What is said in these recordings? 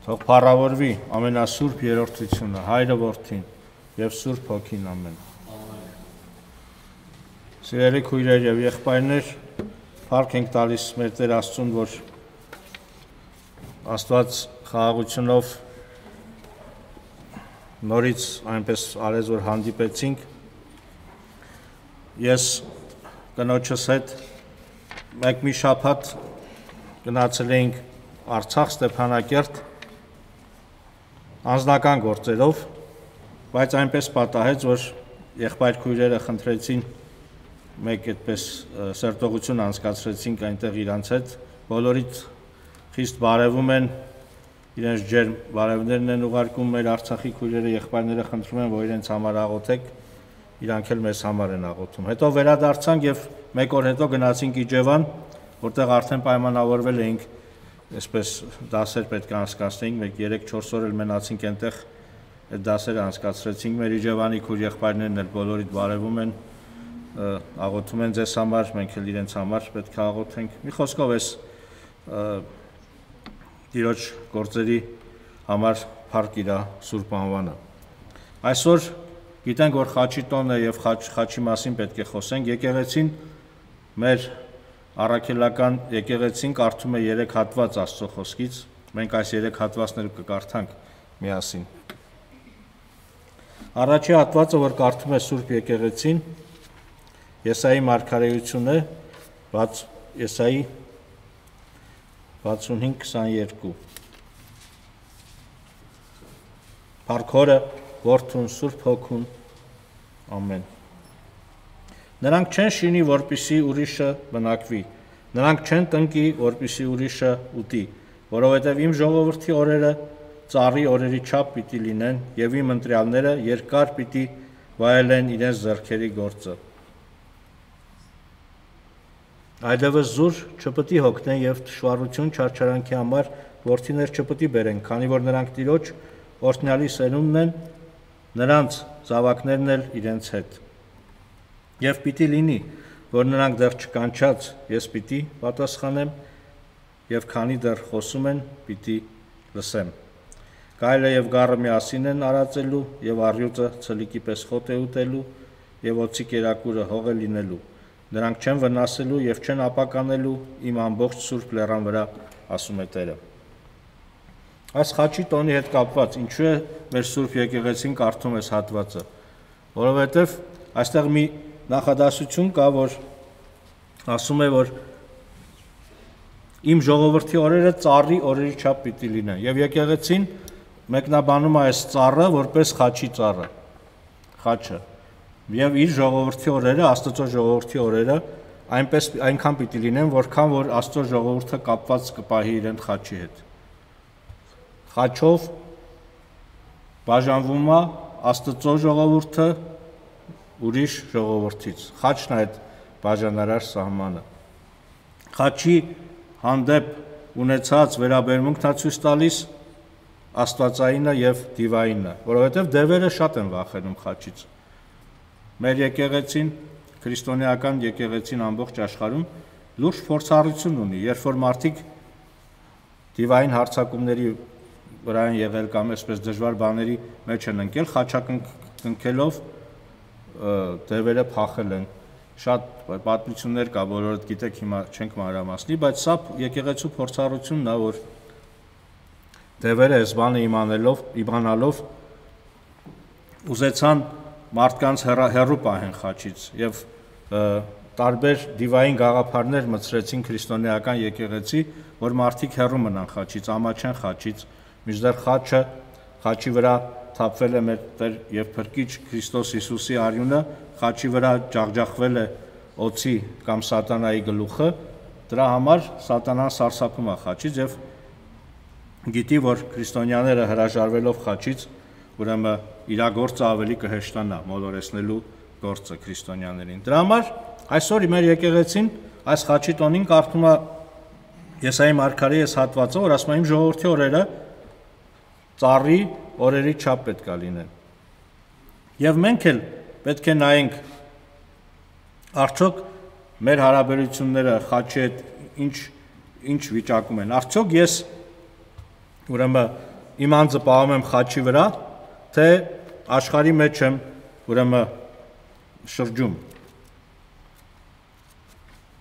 Թող փառավորվի ամենասուրբ երրորդությունը, Հայրը Որդին եւ Սուրբ Հոգին, ամեն։ Սիրելի քույրեր եւ եղբայրներ, փառք ենք տալիս մեր Տեր Աստծուն, որ Աստված խաղաղությունով նորից այնպես արեց, որ հանդիպեցինք։ Ես կնոջս հետ մի շաբաթ գնացել էինք Արցախ, Ստեփանակերտ, անձնական գործերով, բայց այնպես պատահեց, որ եղբայր քույրերը խնդրեցին, մեկ այդպես սերտողություն անցկացրեցինք այնտեղ իրանց հետ, բոլորիդ խիստ բարևում են, իրենց ջերմ բարևներն են ուղարկում մեր Արցախի քույրերը, եղբայրները խնդրում են, որ իրենց համար աղոթեք, իրանք էլ մեզ համար են աղոթում։ Հետո վերադարձանք եւ մեկ օր հետո գնացինք Իջևան, որտեղ արդեն պայմանավորվել էինք, այսպես դասեր պետք է անցկացնեինք, մեկ 3-4 օր էլ մնացինք այնտեղ, այդ դասերը անցկացրեցինք, մեր Իջևանի քույր եղբայրներն էլ բոլորիդ բարևում են, աղոթում են ձեզ համար, մենք էլ իրենց համար պետք է աղոթենք։ Մի խոսքով էս Տիրոջ գործերի համար փառք իրա սուրբ անվանը։ Այսօր գիտենք, որ խաչի տոն է եւ խաչի մասին պետք է խոսենք, եկեղեցին մեր առաքելական եկեղեցին կարդում է 3 հատված Աստծո խոսքից, մենք այս 3 հատվածները կկարդանք միասին։ Առաջի հատվածը, որ կարդում է Սուրբ եկեղեցին, Եսայի մարգարեություն է, Եսայի 65:22։ Փառքորը, Որդուն, Սուրբ Հոգուն, ամեն։ Նրանք չեն շինի, որպիսի ուրիշը բնակվի, նրանք չեն տնկի, որպիսի ուրիշը ուտի, որովհետև իմ ժողովրդի օրերը ծառի օրերի չափ պիտի լինեն, եւ իմ ընտրյալները երկար պիտի վայելեն իրենց ձեռքերի գործը։ Այլևս զուր չպիտի հոգնեն եւ թշվառություն չարչարանքի համար որդիներ չպիտի բերեն, քանի որ նրանք Տիրոջ օրհնյալի սերունդն են, նրանց զավակներն էլ իրենց հետ։ Եվ պիտի լինի, որ նրանք դեռ չկանչած ես պիտի պատասխանեմ, եւ քանի դեռ խոսում են, պիտի լսեմ։ Գայլը եւ գառը միասին են արածելու, եւ առյուծը ցլիկի պես խոտ է ուտելու, եւ օծի կերակուրը հող է լինելու։ Նրանք չեն վնասելու եւ չեն ապականելու իմ ամբողջ սուրբ լեռան վրա, ասում է Տերը։ Այս խաչի տոնի հետ կապված ինչու է մեր Սուրբ եկեղեցին կարդում այս հատվածը, որովհետեւ այստեղ մի նախադասություն կա, որ ասում է, որ իմ ժողովրդի օրերը ծառի օրերի չափ պիտի լինեն, եւ եկեղեցին մեկնաբանում է այս ծառը որպես խաչի ծառը, խաչը, եւ իր ժողովրդի օրերը, Աստծո ժողովրդի օրերը այնքան պիտի լինեն, որքան որ Աստծո ժողովուրդը կապված կպահի իրեն խաչի հետ։ Խաչով բաժանվում է Աստծո ժողովուրդը ուրիշ ժողովրդից։ Խաչն է այդ բաժանարար սահմանը։ Խաչի հանդեպ ունեցած վերաբերմունքն է ցույց տալիս աստվածայինը եւ դիվայինը, որովհետեւ դևերը շատ են վախենում խաչից։ Մեր եկեղեցին, քրիստոնեական եկեղեցին ամբողջ աշխարհում լուրջ փորձառություն ունի, երբ որ մարդիկ դիվային հարձակումների վրա են եղել կամ այսպես դժվար բաների մեջ են ընկել, խաչակնքելով դևերը փախել են։ Շատ պատմություններ կա, բոլորդ գիտեք, հիմա չենք մանրամասնի, բայց սա եկեղեցու փորձառությունն է, որ դևերը այս բանը իմանալով ուզեցան մարդկանց հեռու պահեն խաչից եւ տարբեր դիվային գաղափարներ մտցրեցին քրիստոնեական եկեղեցի, որ մարդիկ հեռու մնան խաչից, ամաչեն խաչից, մինչդեռ խաչի վրա թափվել է մեր Տեր եւ Փրկիչ Քրիստոս Հիսուսի արյունը, խաչի վրա ջախջախվել է օծի կամ սատանայի գլուխը, դրա համար սատանան սարսափում է խաչից եւ գիտի, որ քրիստոնյաները հրաժարվելով խաչից, ուրեմն իր գործը ավելի կհեշտանա, մոլորեցնելու գործը քրիստոնյաներին։ Դրա համար այսօր մեր եկեղեցին այս խաչի տոնին կարդում է Եսայի մարգարեի այս հատվածը, որ ասում է իմ ժողովրդի օրերը ծառի օրերի չափ պետք է լինեն։ Եվ մենք էլ պետք է նայենք արդյոք մեր հարաբերությունները խաչի հետ ինչ վիճակում են։ Արդյոք ես ուրեմն իմ անձը պահում եմ խաչի վրա, թե աշխարհի մեջ եմ ուրեմն շրջում։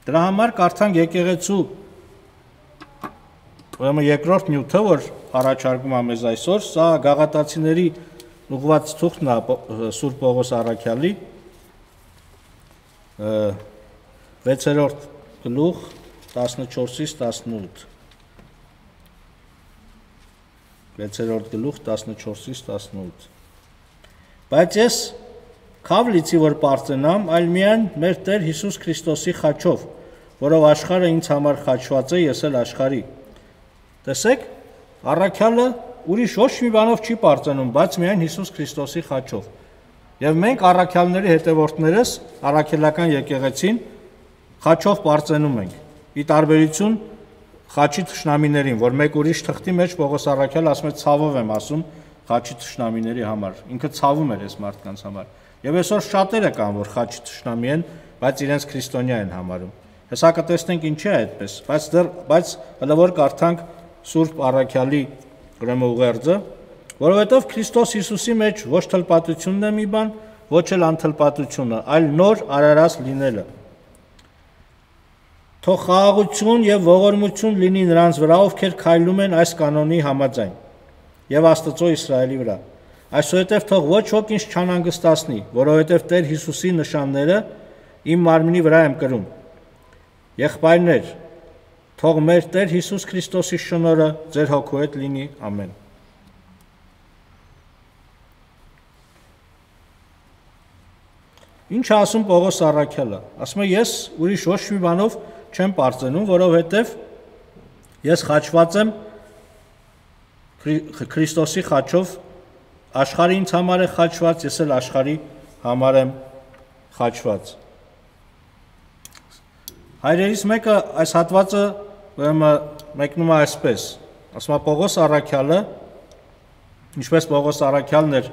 Դրա համար կարդանք եկեղեցու ուրեմն երկրորդ նյութը, որ առաջարկում եմ մեզ այսօր, սա Գաղատացիների ուղղված թուղթն է Սուրբ Պողոս առաքյալի 6-րդ գլուխ 14-ից 18 6-րդ գլուխ 14-ից 18 Բայց ես քավ լիցի, որ պարծենամ, այլ միայն մեր Տեր Հիսուս Քրիստոսի խաչով, որով աշխարհը ինձ համար խաչված է, ես էլ աշխարհի։ Տեսեք, առաքյալը ուրիշ ոչ մի բանով չի պարծենում, բայց միայն Հիսուս Քրիստոսի խաչով։ Եվ մենք առաքյալների հետևորդներս, առաքելական եկեղեցին խաչով պարծենում ենք։ Ի տարբերություն խաչի թշնամիներին, որ մեկ ուրիշ թղթի մեջ Պողոս առաքյալը ասում է ցավով եմ ասում խաչի թշնամիների համար։ Ինքը ցավում էր այս մարդկանց համար։ Եվ այսօր շատերը կան, որ խաչի թշնամի են, բայց իրենց քրիստոնյա են համարում։ Հեսա կտեսնենք ինչի է այդպես, բայց հələ որ կարդանք Սուրբ առաքյալի ուրեմն ուղերձը, որովհետև Քրիստոս Հիսուսի մեջ ոչ թլպատությունն է մի բան, ոչ էլ անթլպատությունը, այլ նոր արարած լինելը։ Թող խաղաղություն եւ ողորմություն լինի նրանց վրա, ովքեր քայլում են այս կանոնի համաձայն, եւ Աստծո Իսրայելի վրա։ Այսուհետև թող ոչ ոք ինձ չանհանգստացնի, որովհետև Տեր Հիսուսի նշանները իմ մարմնի վրա եմ կրում։ Եղբայրներ, թող մեր Տեր Հիսուս Քրիստոսի շնորհը ձեր հոգու հետ լինի, ամեն։ Ինչ է ասում Պողոս առաքյալը։ Ասում է ես ուրիշ ոչ մի բանով չեմ պարծենում, որովհետև ես խաչված եմ Քրիստոսի խաչով, աշխարհը ինձ համար է խաչված, ես էլ աշխարհի համար եմ խաչված։ Հայրերից մեկը այս հատվածը մեկնում է այսպես, ասում է Պողոս առաքյալը, ինչպես Պողոս առաքյալն էր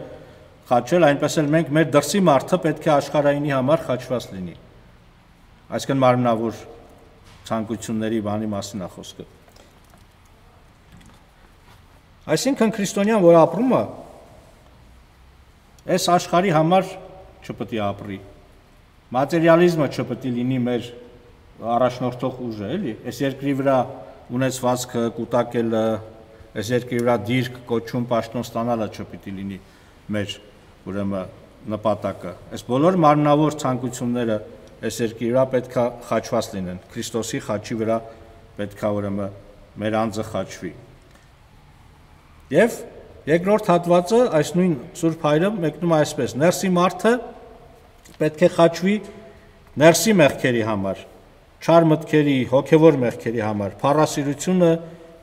խաչել, այնպես էլ մենք մեր դրսի մարդը պետք է աշխարհայինի համար խաչված լինի։ Այսինքն մարմնավոր ցանկությունների բանի մասին է խոսքը։ Այսինքն քրիստոնյան, որ ապրում է, այս աշխարհի համար չպետք է ապրի։ Մատերիալիզմը չպետք է լինի մեր առաջնորդող ուժը, էլի։ Այս երկրի վրա ունեցվածքը կուտակելը, այս երկրի վրա դիրք կոչում պաշտոն ստանալը չպետք է լինի մեր ուրեմն նպատակը։ Այս բոլոր մարմնավոր ցանկությունները այս երկրի վրա պետք է խաչված լինեն։ Քրիստոսի խաչի վրա պետք է ուրեմն մեր անձը խաչվի։ Եվ երկրորդ հատվածը այս նույն Սուրբ Հայրը մեկնում է այսպես. ներսի մարդը պետք է խաչվի ներսի մեղքերի համար, չար մտքերի, հոգևոր մեղքերի համար, փառասիրությունը,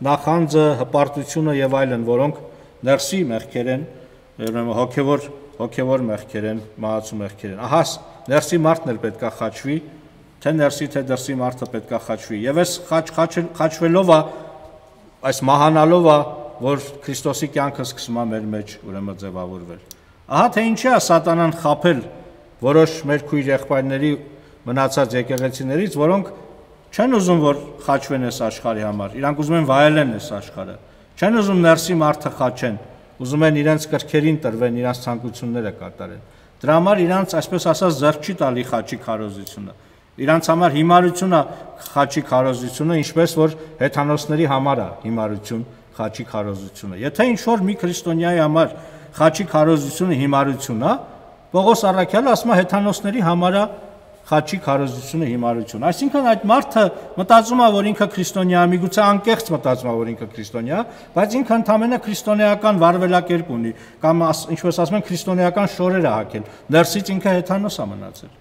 նախանձը, հպարտությունը եւ այլն, որոնք ներսի մեղքեր են, ուրեմն հոգևոր մեղքեր են, մահացու մեղքեր են։ Ահա ներսի մարդն էլ պետք է խաչվի, թե ներսի թե դրսի մարդը պետք է խաչվի։ Եվ այս խաչվելով է, այս մահանալով է, որ Քրիստոսի կյանքը սկսում է մեր մեջ ուրեմն ձևավորվել։ Ահա թե ինչի է սատանան խաբել որոշ մեր քույր եղբայրների մնացած եկեղեցիներից, որոնք չեն ուզում որ խաչվեն այս աշխարհի համար, իրանք ուզում են վայելեն այս աշխարհը, չեն ուզում ներսի մարդը խաչեն, ուզում են իրենց կրքերին տրվեն, իրենց ցանկությունները կատարեն։ Դրա համար իրանց այսպես ասած ձեռք չի տալի խաչի քարոզությունը։ Իրանց համար հիմարություն է խաչի քարոզությունը, ինչպես որ հեթանոսների համար է հիմարություն խաչի քարոզությունը։ Եթե ինչ որ մի քրիստոնյայի համար խաչի քարոզությունը հիմարություն է, Պողոս առաքյալը ասում է հեթանոսների համար է խաչի քարոզությունը հիմարություն։ Այսինքն այդ մարդը մտածում է, որ ինքը քրիստոնյա է, միգուցե անկեղծ մտածում է, որ ինքը քրիստոնյա է, բայց ինքը ընդամենը քրիստոնեական վարվելակերպ ունի, կամ ինչպես ասում են քրիստոնեական շորեր է հագել։ Ներսից ինքը հեթանոս է մնացել։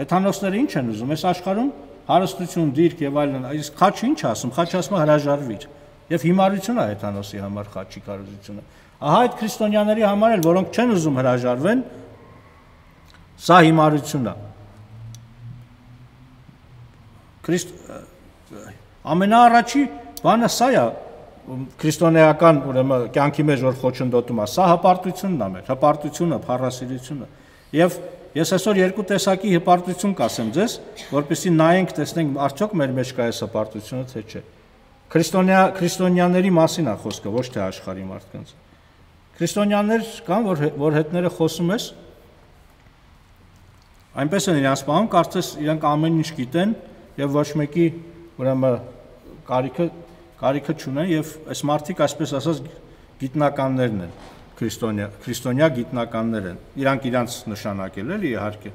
Հեթանոսները ինչ են ուզում, այս աշխարհում հարստություն, դիրք եւ այլն, իսկ խաչը ինչ ասում, խաչը ասում է հրաժարվիր։ Եվ հիմարություն է հեթանոսի համար խաչի քարոզությունը։ Ահա այդ քրիստոնյաների համար էլ, որոնք չեն ուզում հրաժարվեն, սա հիմարություն է։ Ամենաառաջի բանը սա է քրիստոնեական ուրեմն կյանքի մեջ որ խոչընդոտում է, սա հպարտությունն է մեր, հպարտությունը, փառասիրությունը։ Եվ ես այսօր երկու տեսակի հպարտություն կասեմ ձեզ, որպեսզի նայենք, տեսնենք արդյոք մեր մեջ կա այս հպարտությունը թե չէ։ Քրիստոնյաների մասին է խոսքը, ոչ թե աշխարհի մարդկանց։ Քրիստոնյաներ կան, որ հետները խոսում ես, այնպես են իրանց պահում, կարծես իրանք ամեն ինչ գիտեն եւ ոչ մեկի ուրեմն կարիքը չունեն եւ այս մարդիկ այսպես ասած գիտնականներն են, քրիստոնյա գիտնականներ են։ Իրանք իրանց նշանակել էլի իհարկե։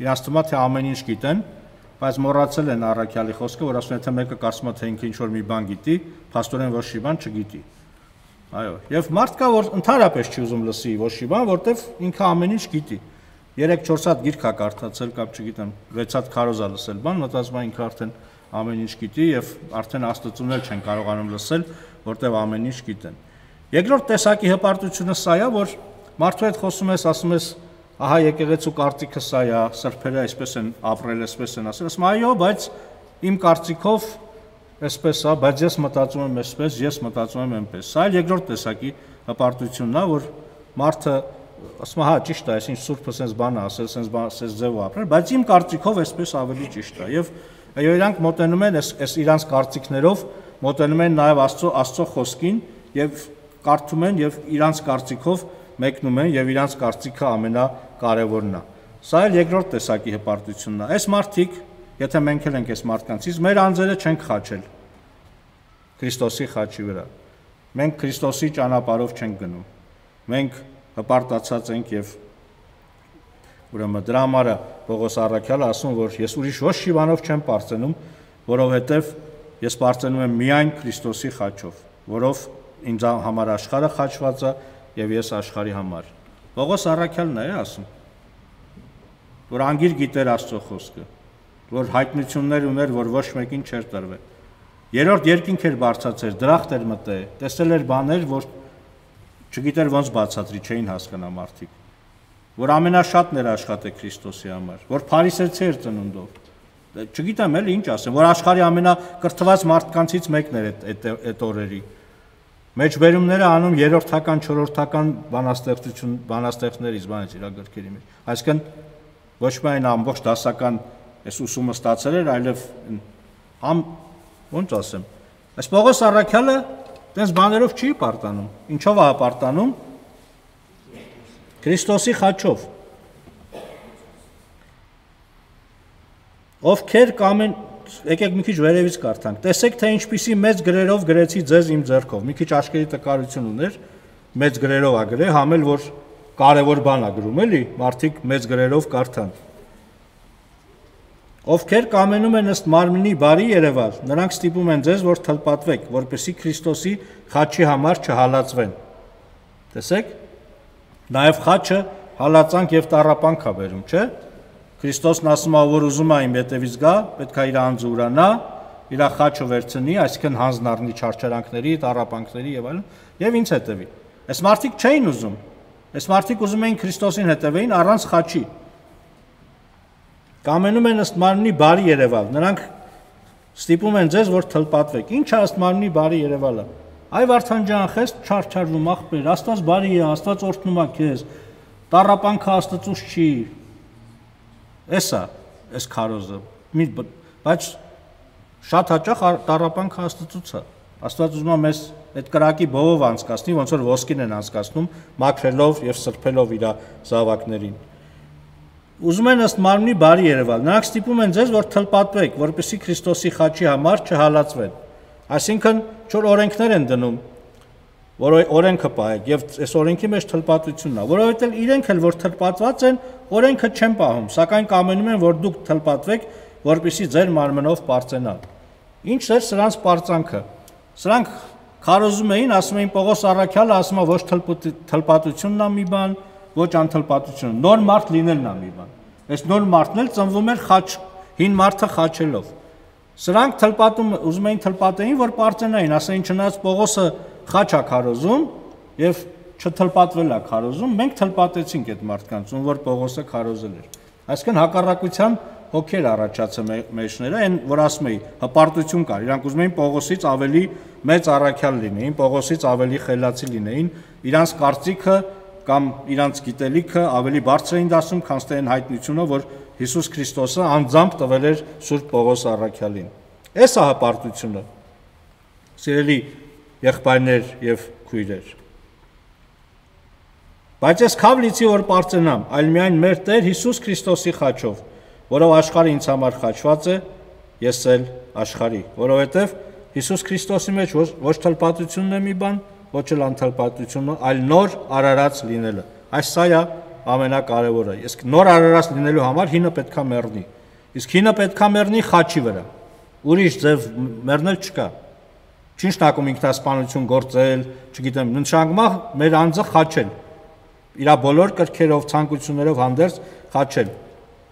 Իրանց թվում է թե ամեն ինչ գիտեն, բայց մոռացել են առաքյալի խոսքը, որ ասում է թե մեկը կարծում է թե ինքը ինչ որ մի բան գիտի, փաստորեն ոչ մի բան չգիտի։ Այո, եւ մարդ կա, որ ընդհանրապես չի ուզում լսի ոչ մի բան, որտեվ ինքը ամեն ինչ գիտի։ 3-4 հատ գիրք է կարդացել, կամ չգիտեմ, 6 հատ քարոզա լսել բան, մտածում է ինքը արդեն ամեն ինչ գիտի եւ արդեն աստծուն էլ չեն կարողանում լսել, որտեվ ամեն ինչ գիտեն։ Երկրորդ տեսակի հպարտությունը սա է, որ մարդու հետ խոսում ես, ասում ես, ահա եկեղեցու կարծիքը սա է, սրբերը այսպես են ապրել, այսպես են ասել, ասում այո, բայց իմ կարծիքով այսպես է, բայց ես մտածում եմ այսպես, ես մտածում եմ այնպես։ Սա էլ երկրորդ տեսակի հպարտությունն է, որ մարդը ասում է, հա, ճիշտ է, այսինչ սուրբը sense բան է ասել, sense ձև ապրել, բայց իմ կարծիքով այսպես ավելի ճիշտ է։ Եվ այո, իրանք մոտենում են այս իրանց կարծիքներով, մոտենում են նաև Աստծո խոսքին եւ կարդում են եւ իրանց կարծիքով մեկնում են եւ իրանց կարծիքը ամենակարևորն է։ Սա էլ երկրորդ տեսակի հպարտությունն է։ Այս մարդիկ, եթե մենք էլ ենք այս մարդկանցից, մեր անձերը չենք խաչել Քրիստոսի խաչի վրա։ Մենք Քրիստոսի ճանապարհով չենք գնում։ Մենք հպարտացած ենք եւ ուրեմն դրա համար Պողոս առաքյալը ասում, որ ես ուրիշ ոչ մի բանով չեմ պարծենում, որովհետեւ ես պարծենում եմ միայն Քրիստոսի խաչով, որով ինձ համար աշխարհը խաչված է եւ ես աշխարհի համար։ Պողոս առաքյալն է ասում, որ անգիր գիտեր Աստծո խոսքը, որ հայտնություններ ուներ, որ ոչ մեկին չէր տրվել։ Երրորդ երկինք էր բարձացել, դրախտ էր մտել, տեսել էր բաներ, որ չգիտեր ոնց բացատրի, չէին հասկանա մարդիկ, որ ամենաշատն էր աշխատել Քրիստոսի համար, որ փարիսեցի էր ծնունդով։ Չգիտեմ էլ ինչ ասեմ, որ աշխարհի ամենակրթված մարդկանցից մեկն էր այդ օրերի։ Մեջբերումները անում երրորդական, չորրորդական բանաստեղծներից, բանից իր գրքերի մեջ։ Այսինքն ոչ միայն ամբողջ դասական այս ուսումը ստացել էր, այլև ոնց ասեմ, այս Պողոս առաքյալը տես բաներով չի պարտանում։ Ինչով է պարտանում։ Քրիստոսի խաչով։ Ովքեր կամեն, եկեք մի քիչ վերևից կարդանք։ Տեսեք, թե ինչպիսի մեծ գրերով գրեցի ձեզ իմ ձեռքով։ Մի քիչ աշխարհի տկարություն ուներ, մեծ գրերով է գրել, համել որ կարևոր բան է գրում, էլի, մարդիկ մեծ գրերով կարդան։ Ովքեր կամենում են ըստ մարմնի բարի երևալ, նրանք ստիպում են ձեզ, որ թլպատվեք, որպեսզի Քրիստոսի խաչի համար չհալածվեն։ Տեսեք, նաև խաչը հալածանք եւ տառապանք է բերում, չէ՞։ Քրիստոսն ասում է, որ ուզում է իմ հետևից գա, պետք է իր անձը ուրանա, իր խաչը վերցնի, այսինքն հանձն առնի չարչարանքների, տառապանքների եւ այլն, եւ ինձ հետևի։ Այս մարդիկ չէին ուզում։ Այս մարդիկ ուզում էին Քրիստոսին հետևեին առանց խաչի։ Կամենում են ըստ մարմնի բարի երևալ, նրանք ստիպում են ձեզ, որ թլպատվեք։ Ինչ է ըստ մարմնի բարի երևալը։ Այ Վարդան ջան, խես չարչարվում ախպեր, Աստված բարի է, Աստված օրհնում է քեզ։ Տառապանքը Աստծուց չի։ Էսա, այս քարոզը։ Բայց շատ հաճախ տառապանքը Աստծուց է։ Աստված ուզում է մեզ այդ կրակի բովով անցկացնի, ոնց որ ոսկին են անցկացնում, մաքրելով եւ սրբելով իր զավակներին։ Ուզում են ըստ մարմնի բարի երևալ, նրանք ստիպում են ձեզ, որ թլպատվեք, որպեսզի Քրիստոսի խաչի համար չհալածվեն։ Այսինքն, չոր օրենքներ են դնում, որ օրենքը պահեք, եւ այս օրենքի մեջ թլպատությունն է, որովհետեւ իրենք էլ որ թլպատված են, օրենքը չեն պահում, սակայն կամենում են, որ դուք թլպատվեք, որպեսզի ձեր մարմնով պարծենան։ Ինչ էր սրանց պարծանքը։ Սրանք քարոզում էին, ասում էին Պողոս առաքյալը, ասում է ոչ թլպատությունն է մի բան, ոչ անթլպատությունը, նոր մարդ լինելն է մի բան։ Այս նոր մարդն էլ ծնվում էր խաչ, հին մարդը խաչելով։ Սրանք թլպատում, ուզում էին թլպատեին, որ պարծենային, ասային չնայած Պողոսը խաչ է քարոզում եւ չթլպատվել է քարոզում, մենք թլպատեցինք այդ մարդկանց, ում որ Պողոսը քարոզել էր։ Այսինքն հակառակության հոգեր առաջացել մեջները, այն որ ասում էի, հպարտություն կար, իրանք ուզում էին Պողոսից ավելի մեծ առաքյալ լինեին, Պողոսից ավելի խելացի լինեին, իրանց կարծիքը կամ իրանց գիտելիքը ավելի բարձր էին դասում, քան թե այն հայտնությունը, որ Հիսուս Քրիստոսը անձամբ տվել էր Սուրբ Պողոս առաքյալին։ Էս է հպարտությունը։ Սիրելի եղբայրներ եւ քույրեր։ Բայց ես քավ լիցի որ պարծենամ, այլ միայն մեր Տեր Հիսուս Քրիստոսի խաչով, որով աշխարհը ինձ համար խաչված է, ես էլ աշխարհի, որովհետեւ Հիսուս Քրիստոսի մեջ ոչ թլպատությունն է մի բան, ոչ էլ անթլպատությունը, այլ նոր արարած լինելը։ Այս սա է ամենակարևորը։ Իսկ նոր արարած լինելու համար հինը պետքա մեռնի։ Իսկ հինը պետքա մեռնի խաչի վրա։ Ուրիշ ձև մեռնել չկա։ Չի նշանակում ինքնասպանություն գործել, չգիտեմ, նշանակում է մեր անձը խաչել։ Իր բոլոր կրքերով, ցանկություններով հանդերձ խաչել։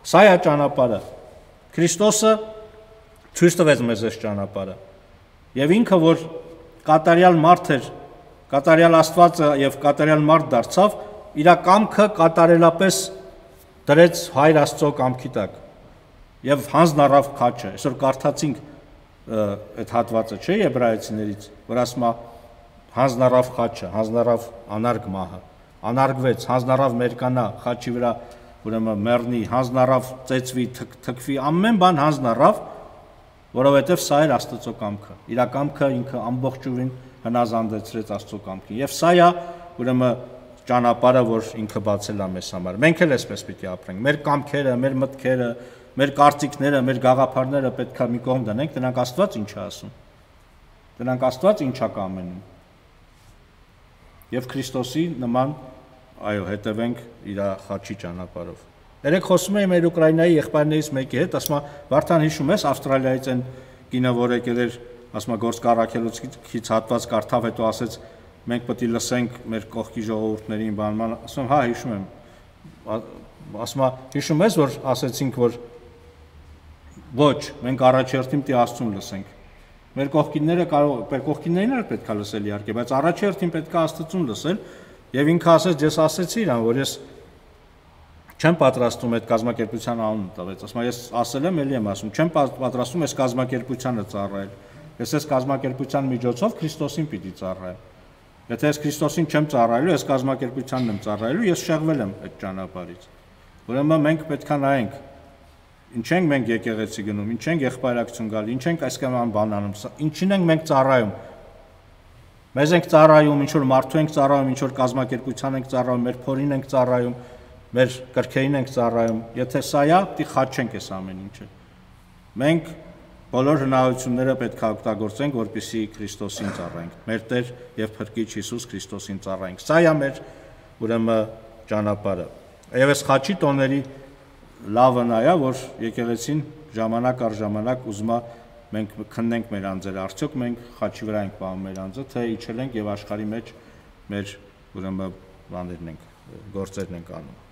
Սա է ճանապարհը։ Քրիստոսը ցույց տվեց մեզ այս ճանապարհը։ Եվ ինքը որ կատարյալ մարդ էր, կատարյալ Աստվածը եւ կատարյալ մարդ դարձավ, իր կամքը կատարելապես դրեց Հայր Աստծո կամքի տակ։ Եվ հանձն առավ խաչը։ Այսօր կարդացինք այդ հատվածը, չէ՞, Եբրայեցիներից, որ ասում է հանձն առավ խաչը, հանձն առավ անարգ մահը, անարգվեց, հանձն առավ մերկանա խաչի վրա, ուրեմն մեռնի, հանձն առավ ծեծվի, թքվի, ամեն բան հանձն առավ, որովհետև սա էր Աստծո կամքը։ Իր կամքը ինքը ամբողջովին հնազանդեցրեց Աստծո կամքին։ Եվ սա է ուրեմն ճանապարհը, որ ինքը բացել է մեզ համար։ Մենք էլ այսպես պիտի ապրենք։ Մեր կամքերը, մեր մտքերը, մեր կարծիքները, մեր գաղափարները պետք է մի կողմ դնենք, դրանք Աստված ինչ է ասում։ Դրանք Աստված ինչ է կամենում։ Եվ Քրիստոսի նման, այո, հետևենք իր խաչի ճանապարհով։ Երեք խոսում էի մեր Ուկրաինայի եղբայրներից մեկի հետ, ասում է, Վարդան հիշում ես Ավստրալիայից այն կինը, որ եկել էր, ասում է, գործ կառաքելուցից հատված կարդավ, հետո ասեց, մենք պետք է լսենք մեր կողքի ժողովուրդներին բանման, ասում եմ, հա, հիշում եմ։ Ասում է, հիշում ես, որ ասեցինք, որ ոչ, մենք առաջերտին պիտի Աստծուն լսենք։ Մեր կողքիններին էլ պետք է լսել իհարկե, բայց առաջերտին պետք է Աստծուն լսել, եւ ինքը ասեց, ես ասեցի իրան, որ ես չեմ պատրաստում այդ կազմակերպության անունը տվեց, ասում եմ, ես ասել եմ, էլի եմ ասում, չեմ պատրաստում այս կազմակերպությանը ծառայել։ Ես այս կազմակերպության միջոցով Քրիստոսին պիտի ծառայեմ։ Եթե ես Քրիստոսին չեմ ծառայելու, այս կազմակերպությանն եմ ծառայելու, ես շեղվել եմ այդ ճանապարհից։ Ուրեմն մենք պետք է նայենք, ինչ ենք մենք եկեղեցի գնում, ինչ ենք եղբայրակցություն գալի, ինչ ենք այսքան բան անում, ինչին ենք մենք ծառայում։ Մեզ ենք ծառայում, ինչ որ մարդու ենք ծառայում, ինչ որ կազմակերպության ենք ծառայում, մեր փորին ենք ծառայում, մեր կրքերին ենք ծառայում։ Եթե սա է, պիտի խաչենք այս ամեն ինչը։ Մենք բոլոր հնարավորությունները պետք է օգտագործենք, որպեսզի Քրիստոսին ծառայենք։ Մեր Տեր եւ Փրկիչ Հիսուս Քրիստոսին ծառայենք։ Սա է մեր ուրեմն ճանապարհը։ Եվ այս խաչի տոների լավը նա է, որ եկեղեցին ժամանակ առ ժամանակ ուզում է մենք քննենք մեր անձերը, արդյոք մենք խաչի վրա ենք պահում մեր անձը, թե իջել ենք եւ աշխարհի մեջ մեր ուրեմն բաներն ենք, գործերն ենք անում։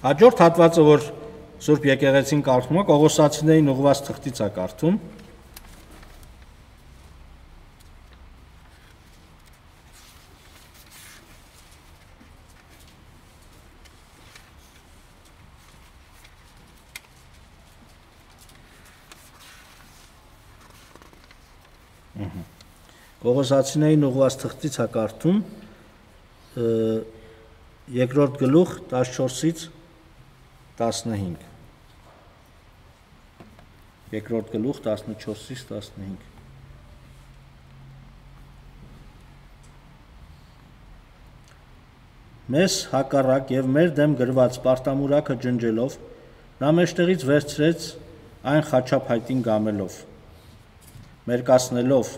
Հաջորդ հատվածը, որ Սուրբ եկեղեցին կարդում է, Կողոսացիներին ուղղված թղթից է կարդում։ Կողոսացիներին ուղղված թղթից է կարդում երկրորդ գլուխ 14-ից 15 երկրորդ գլուխ 14-ից 15 Մեզ հակառակ եւ մեր դեմ գրված պարտամուրակը ջնջելով նա մեջտեղից վերցրեց այն խաչափայտին գամելով մերկացնելով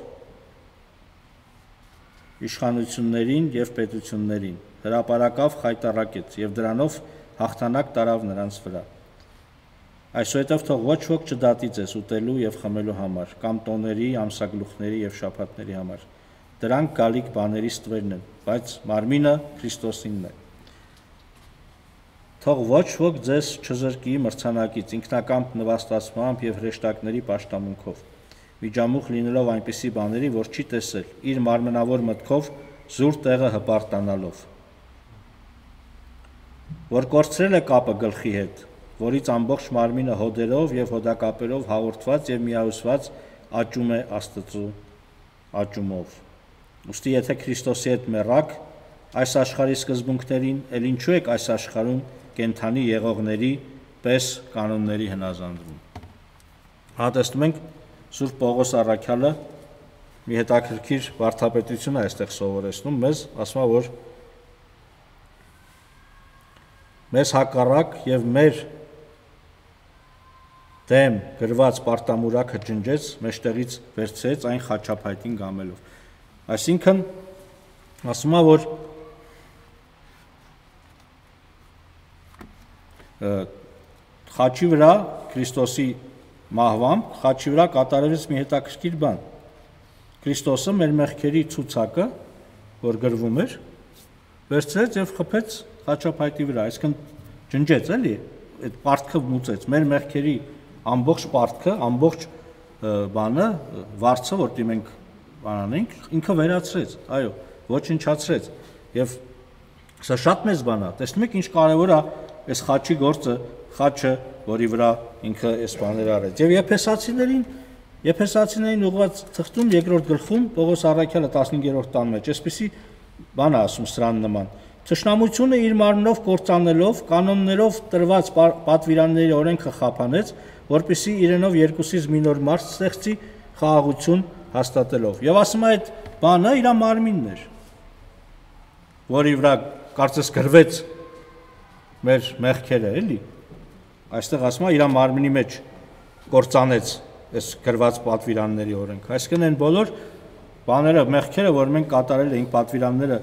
իշխանություններին եւ պետություններին հրապարակավ խայտառակեց եւ դրանով հաղթանակ տարավ նրանց վրա այսուհետև թող ոչ ոք չդատի ձեզ ուտելու եւ խմելու համար կամ տոների, ամսագլուխների եւ շաբաթների համար դրանք գալիք բաների ստվերն են բայց մարմինը Քրիստոսինն է թող ոչ ոք ձեզ չզրկի մրցանակից ինքնակամ նվաստացմամբ եւ հրեշտակների պաշտամունքով միջամուխ լինելով այնպիսի բաների, որ չի տեսել, իր մարմնավոր մտքով զուր տեղը հպարտանալով, որ կորցրել է կապը գլխի հետ, որից ամբողջ մարմինը հոդերով եւ հոդակապերով հաղորդված եւ միահյուսված աճում է Աստծու աճումով։ Ուստի եթե Քրիստոսի հետ մեռաք, այս աշխարհի սկզբունքներին, ել ինչու եք այս աշխարհում կենթանի եղողների պես կանոնների հնազանդվում։ Հատեսնում ենք Սուրբ Պողոս Առաքյալը մի հետաքրքիր վարդապետություն է այստեղ սովորեցնում մեզ, ասում է, որ մեզ հակառակ եւ մեր դեմ գրված պարտամուրակը ջնջեց, մեջտեղից վերցրեց այն խաչափայտին գամելով։ Այսինքն ասում է, որ խաչի վրա Քրիստոսի մահվամբ խաչի վրա կատարվեց մի հետաքրքիր բան։ Քրիստոսը մեր մեղքերի ցուցակը, որ գրվում էր, վերցրեց եւ խփեց խաչափայտի վրա, այսինքն ջնջեց, էլի, այդ պարտքը մուծեց, մեր մեղքերի ամբողջ պարտքը, ամբողջ բանը, վարձը, որ դի մենք բանանենք, ինքը վերացրեց, այո, ոչնչացրեց։ Եվ սա շատ մեծ բան է։ Տեսնում եք ինչ կարևոր է այս խաչի գործը, խաչը, որի վրա ինքը այս բաները արեց։ Եվ Եփեսացիներին ուղղված թղթում երկրորդ գլխում Պողոս Առաքյալը 15-րդ տան մեջ այսպեսի բան է ասում սրան նման. Թշնամությունը իր մարմնով կործանելով, կանոններով տրված պատվիրանների օրենքը խափանեց, որպեսզի իրենով երկուսից մի նոր մարդ ստեղծի խաղաղություն հաստատելով։ Եվ ասում է այդ բանը իր մարմինն էր, որի վրա կարծես գրվեց մեր մեղքերը, էլի։ Այստեղ ասում է իր մարմնի մեջ կործանեց այս գրված պատվիրանների օրենքը։ Այսինքն այն բոլոր բաները, մեղքերը, որ մենք կատարել էինք, պատվիրանները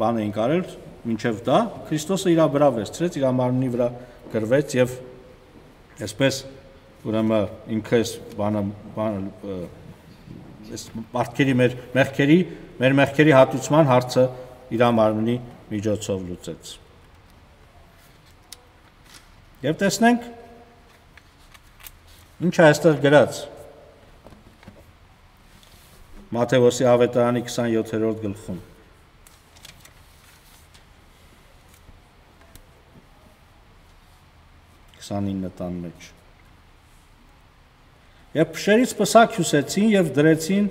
բան էինք արել, մինչև դա Քրիստոսը իր վրա վերցրեց, իր մարմնի վրա գրվեց եւ այսպես ուրեմն ինքը այս բանը այս պարտքերի մեր մեղքերի հատուցման հարցը իր մարմնի միջոցով լուծեց։ Եվ տեսնենք ինչ է այստեղ գրած Մատթեոսի ավետարանի 27-րդ գլխում։ Տան մեջ։ Եվ փշերից պսակ հյուսեցին եւ դրեցին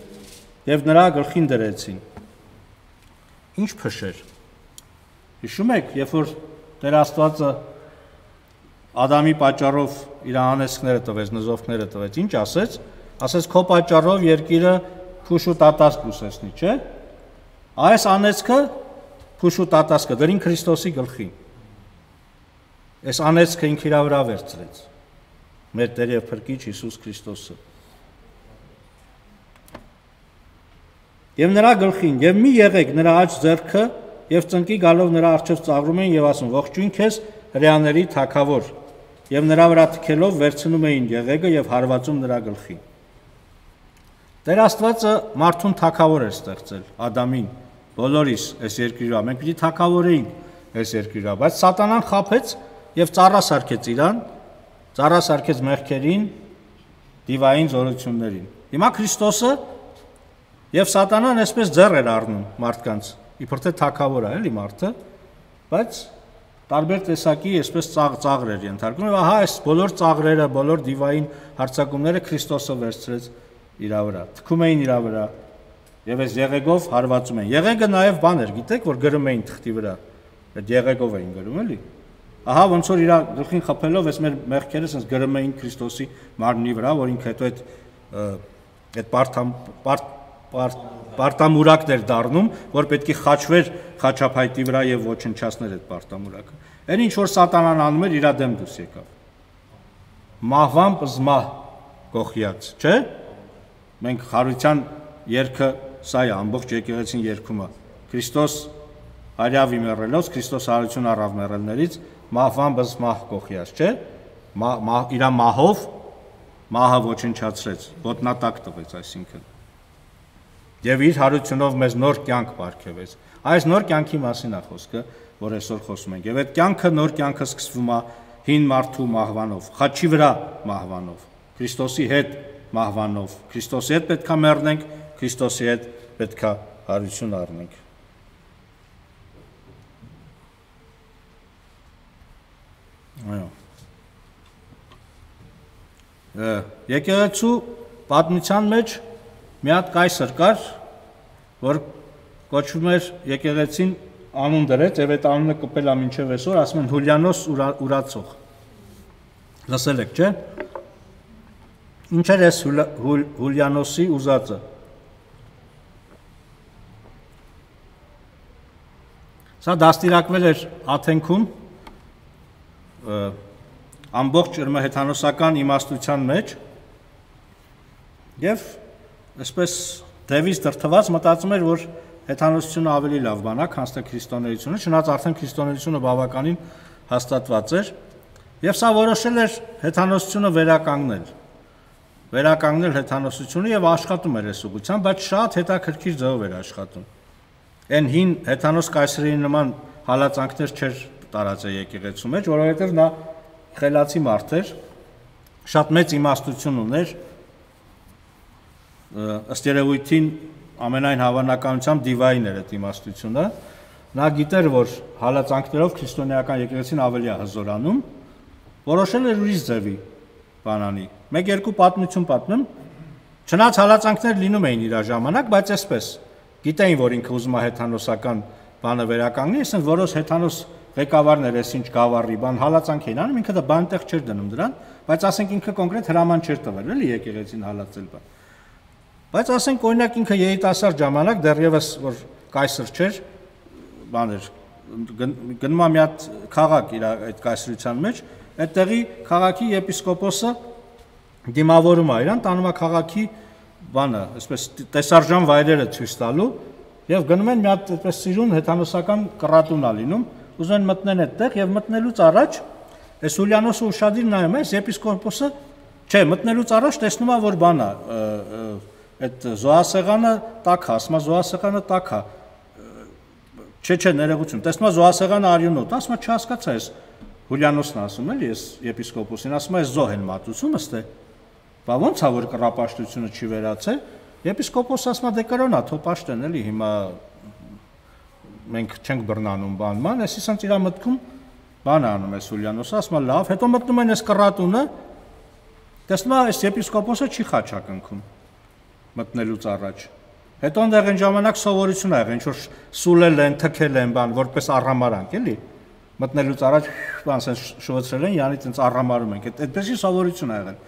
եւ նրա գլխին դրեցին։ Ինչ փշեր։ Հիշում եք, երբ որ Տեր Աստվածը Ադամի պատճառով իր անեծքները տվեց, նզովքները տվեց, ինչ ասեց։ Ասեց քո պատճառով երկիրը փուշ ու տատասկ կուսեցնի, չէ՞։ Այս անեծքը փուշ ու տատասկը դրին Քրիստոսի գլխին։ Այս անեծքը ինքը իր վրա վերցրեց։ Մեր Տեր եւ Փրկիչ Հիսուս Քրիստոսը։ Եվ նրա գլխին, եւ մի եղեք նրա աջ ձեռքը, եւ ծնկի գալով նրա առջև ծաղրում էին եւ ասում. ողջույն քեզ հրեաների թագավոր, եւ նրա վրա թքելով վերցնում էին եղեգը եւ հարվածում նրա գլխին։ Տեր Աստվածը մարդուն թագավոր էր ստեղծել, Ադամին, բոլորիս այս երկրի վրա, մենք պիտի թագավորեինք այս երկրի վրա, բայց Սատանան խաբեց եւ ծառա սարքեց իրան, ծառա սարքեց մեղքերին, դիվային զորություններին։ Հիմա Քրիստոսը եւ Սատանան այսպես ձեռ էր առնում մարդկանց, իբր թե թագավոր է, էլի մարդը, բայց տարբեր տեսակի այսպես ծաղր էր ենթարկում եւ ահա այս բոլոր ծաղրերը, բոլոր դիվային հարձակումները Քրիստոսը վերցրեց իր վրա, թքում էին իր վրա եւ այս եղեգով հարվածում էին։ Եղեգը նաեւ բան էր, գիտեք, որ գրում էին թղթի վրա, այդ եղեգով էին գրում, էլի։ Ահա ոնց որ իր գլխին խփելով այս մեր մեղքերը sense գրում էին Քրիստոսի մարմնի վրա, որ ինքը հետո այդ պարտամուրակն էր դառնում, որ պետք է խաչվեր խաչափայտի վրա եւ ոչնչացներ այդ պարտամուրակը։ Այն ինչ որ Սատանան անում էր, իր դեմ դուրս եկավ։ Մահվամբ զմահ գողիած, չէ՞։ Մենք խարության երգը սա է, ամբողջ եկեղեցին երգում է։ Քրիստոս արյավի մեռելոց, Քրիստոս հարություն առավ մեռելներից, մահվամբ զմահ գողիած, չէ՞։ Իր մահով մահը ոչնչացրեց, ոտնատակ տվեց, այսինքն։ Եվ իր հարությունով մեզ նոր կյանք պարգևեց։ Այս նոր կյանքի մասին է խոսքը, որ այսօր խոսում ենք։ Եվ այդ կյանքը նոր կյանքը սկսվում է հին մարդու մահվանով, խաչի վրա մահվանով, Քրիստոսի հետ մահվանով։ Քրիստոսի հետ պետք է մեռնենք, Քրիստոսի հետ պետք է հարություն առնենք։ Այո։ Եկեղեցու պատմության մեջ մի հատ կայսր կար, որ կոչվում էր եկեղեցին անուն դրեց, եւ այդ անունը կպել է մինչև այսօր, ասում են Հուլիանոս Ուրացող։ Լսել եք, չէ՞։ Ինչ էր այս Հուլիանոսի ուզածը։ Սա դաստիարակվել էր Աթենքում ամբողջ հեթանոսական իմաստության մեջ եւ այսպես դևից դրթված մտածում էր, որ հեթանոսությունը ավելի լավ բան է, քան թե քրիստոնեությունը, չնայած արդեն քրիստոնեությունը բավականին հաստատված էր եւ սա որոշել էր հեթանոսությունը վերականգնել հեթանոսությունը եւ աշխատում էր այս ուղղությամբ, բայց շատ հետաքրքիր ձևով էր աշխատում։ Այն հին հեթանոս կայսրերի նման հալածանքներ չէր տարածել եկեղեցու մեջ, որովհետև նա խելացի մարդ էր, շատ մեծ իմաստություն ուներ, ըստ երևույթին ամենայն հավանականությամբ դիվային էր այդ իմաստությունը, նա գիտեր, որ հալածանքներով քրիստոնեական եկեղեցին ավելի է հզորանում, որոշել էր ուրիշ ձևի բանանի։ Մեկ-երկու պատմություն պատմեմ, չնայած հալածանքներ լինում էին իր ժամանակ, բայց այսպես գիտեին, որ ինքը ուզում է հեթանոսական բանը վերականգնի, ասեն որոշ հեթանոս ղեկավարներ էս ինչ գավառի բան հալածանք էին անում, ինքը դա բանտեղ չէր դնում դրան, բայց ասենք ինքը կոնկրետ հրաման չէր տվել, էլի եկեղեցին հալածել բան։ Բայց ասենք օրինակ ինքը երիտասարդ ժամանակ դեռևս որ կայսր չէր, բաներ գնում է մի հատ քաղաք իր այդ կայսրության մեջ, այդտեղի քաղաքի եպիսկոպոսը դիմավորում է իրան, տանում է քաղաքի բանը, այսպես տեսարժան վայրերը ցույց տալու եւ գնում են մի հատ այդպես սիրուն հեթանոսական կռատուն է լինում, ուզում են մտնեն այդտեղ եւ մտնելուց առաջ այս Հուլիանոսը ուշադիր նայում է, եպիսկոպոսը չէ, մտնելուց առաջ տեսնում է, որ բան է, այդ զոհասեղանը տաք է, ասում է զոհասեղանը տաք է, չէ, ներողություն, տեսնում է զոհասեղանը արյունոտ, ասում է չհասկացա ես Հուլիանոսն ասում էլի, ես եպիսկոպոսին, ասում է զոհ են մատուցում, ըստ է, բա ոնց է որ կռապաշտությունը չի վերացել, եպիսկոպոսը ասում է դե կրոնա, թո պաշտեն էլի, հիմա մենք չենք բռնանում բանման, այսինքն իր մտքում բան է անում այս Հուլիանոսը, ասում է լավ, հետո մտնում են այս կռատունը, տեսնում է այս եպիսկոպոսը չի խաչակնքում մտնելուց առաջ։ Հետո այնտեղ այն ժամանակ սովորություն ա եղել, ինչ որ սուլել են, թքել են բան, որպես առհամարանք, էլի։ Մտնելուց առաջ բան ասեն շվացրել են, յանի տենց առհամարում են։ Այդպեսի սովորություն ա եղել։